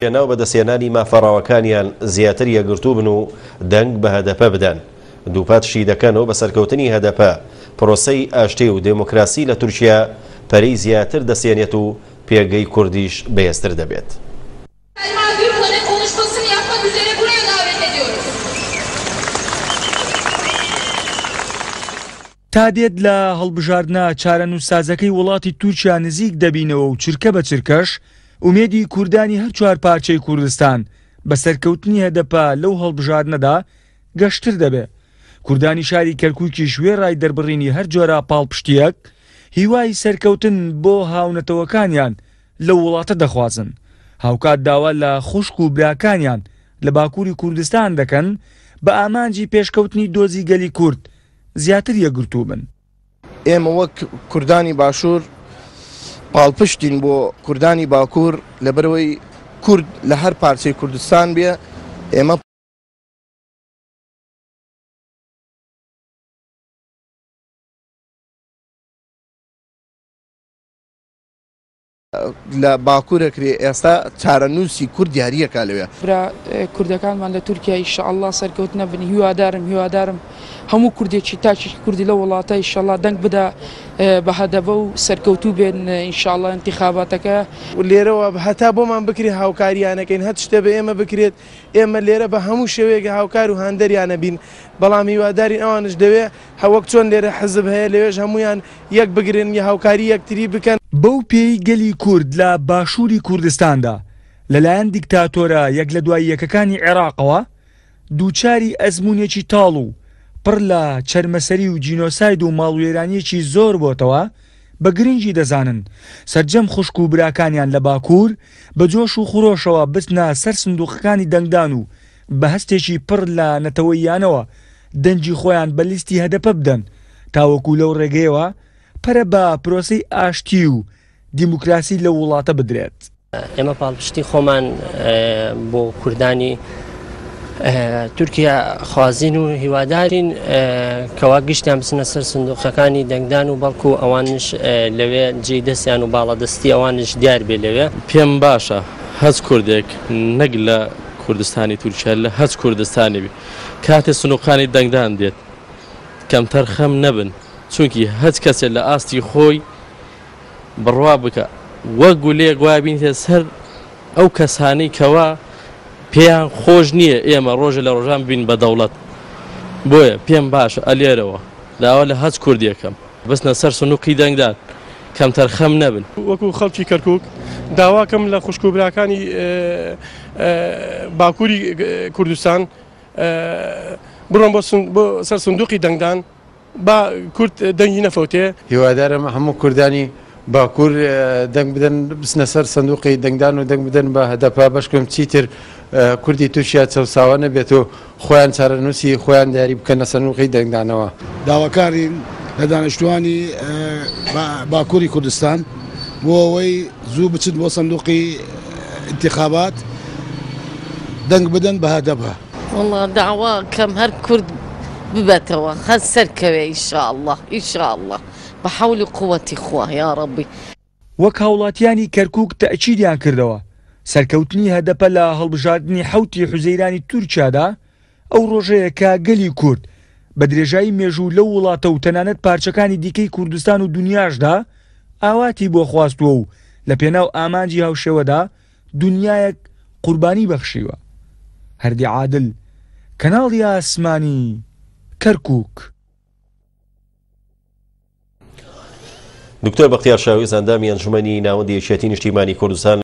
پێناو بەدەستهێنانی مافە ڕەواکانیان زیاتر یەکگرتوو بن و دەنگ بە هەدەپە بدەن. دووپاتشی دەکەنەوە بە سەرکەوتنی هەدەپە پرۆسەی ئاشتی و دێموکراسی لە تورکیا پەرەی زیاتر دەسێنێت و پێگەی کوردیش بەهێزتر دەبێت. تا دێت لە هەڵبژاردنە چارەنووسسازەکەی وڵاتی تورکیا نزیک دەبینەوە و چرکە بە چرکەش ئومێدی کوردانی هەر چوار پارچەی کوردستان بە سەرکەوتنی هەدەپە لەو هەڵبژاردنەدا گەشتر دەبێ. کوردانی شاری کەرکووکیش وێڕای دەربڕینی هەر جۆرە پاڵپشتییەک، هیوای سەرکەوتن بۆ هاونەتەوەکانیان لەو وڵاتە دەخوازن. هاوکات داوا لە خوشک و براکانیان لە باکووری کوردستان دەکەن بە ئامانجی پێشکەوتنی دۆزی گەلی کورد زیاتر یەکگرتوو بن. ئێمە وەک کوردانی باشوور پاڵپشتین بۆ کوردانی باکوور، لەبەرئەوەی کورد لە هەر پارچەی کوردستان بێ ئێمە. لە باکوور ئەکرێ ئێستا چارەنووسی کورد دیاریەکا لەوێ. برا کوردەکانمان لە تورکیا ئیشەئەڵا سەرکەوتنە بن هیوادارم هیوادارم هەموو کوردێکی تاکێکی کوردی لەو وڵاتە ئیشەڵا دەنگ بدا بە هەدەبە و سەرکەوتوو بێن ئینشاڵا ئینتیخاباتەکە. لێرەوە هەتا بۆمان بکرێت هاوکاریانەکەین هەر شتێ بە ئێمە بکرێت ئێمە لێرە بە هەموو شێوەیەک هاوکار و هاندەریانە بین بەڵام هیوادارین ئەوانش لەوێ هەوەک چۆن لێرە حزب هەیە لەوێش هەموویان یەک بگرن یا هاوکاری یەکتری بکەن. بەو پێیەی گەلی کورد لە باشووری کوردستاندا لەلایەن دیکتاتۆرە یەک لە دوای یەکەکانی عێراقەوە دووچاری ئەزموونێکی تاڵ و پڕ لە چەرمەسەری و جینۆساید و ماڵوێرانییەکی زۆر بۆتەوە، بە گرنگی دەزانن سەرجەم خوشک و براکانیان لە باکوور بە جۆش و خرۆشەوە بچنە سەر سندووقەکانی دەنگدان و بە هەستێکی پڕ لە نەتەوەییانەوە دەنگی خۆیان بە لیستی هەدەپە بدەن تاوەکو لەو ڕێگەیەوە پەرە بە پرۆسەی ئاشتی و دیموکراسی لەو وڵاتە بدرێت. ئێمە پاڵپشتی خۆمان بۆ کوردانی تورکیا خوازین و هیوادارین کەوا گشتیان بچنە سەر سندوقەکانی دەنگدان و بەڵکو ئەوانش لەوێ جێی دەستیان و باڵادەستی ئەوانش دیار بێ لەوێ. پێم باشە هەچ کوردێک نەک لە کوردستانی تورکیا لە هەچ کوردستانی بی کاتێ سنوقانی دەنگدان دێت کەمتەرخەم نەبن چونکی هەچ کەسێ لە ئاستی خۆی بڕوا بکە وەک گولەیەک وایە بینیتە سەر ئەو کەسانەی کەوا پێیان خۆش نییە ئێمە ڕۆژێ لە ڕۆژان ببین بە دەوڵەت بۆیە پێم باشە ئەلێرەوە داوا لە هەچ کوردێکەم بچنە سەر سنوقی دەنگدان کەمتەرخەم نەبن. وەکو خەڵکی کەرکوک داواکەم لە خوشک و براکانی باکوری کوردستان بڕۆن بۆ سەر سندوقی دەنگدان با کورد دەنگی نەفەوتێ. هیوادارم هەموو کوردانی باکوور دەنگ بدەن بچنە سەر سندوقی دەنگدان و دەنگ بدەن بە هەدەپە بەشکم چیتر کوردی تورکیا چەوساوە نەبێت و خۆیان چارەنووسی خۆیان دیاری بکەن لە سندوقی دەنگدانەوە. داواکارین لە دانیشتووانی باکووری کوردستان بۆ ئەوەی زوو بچن بۆ سندوقی ئینتیخابات دەنگ بدەن بە هەدەپە. وەڵا داوا کەم هەر کورد ببەتەوە هەر سەرکەوێ ئیشاڵڵا ئیشاڵڵا بە حەول و قوەتی خوا یاڕەبی. وەک هاوڵاتیانی کەرکوک تەئکیدیان کردەوە، سەرکەوتنی هەدەپە لە هەڵبژاردنی حەوتی حوزەیرانی تورکیادا ئەو ڕۆژەیە کە گەلی کورد بە درێژایی مێژوو لەو وڵاتە و تەنانەت پارچەکانی دیکەی کوردستان و دونیاشدا ئاواتی بۆ خواستووە و لە پێناو ئامانجی هاوشێوەدا دونیایەک قوربانی بەخشیوە. هەردی عادل، کەناڵی ئاسمانی، کەرکوک. دکتۆر بەختیار شاویز ئەندامی ئەنجومەنی ناوەندی یەکێتی نیشتیمانی کوردستان.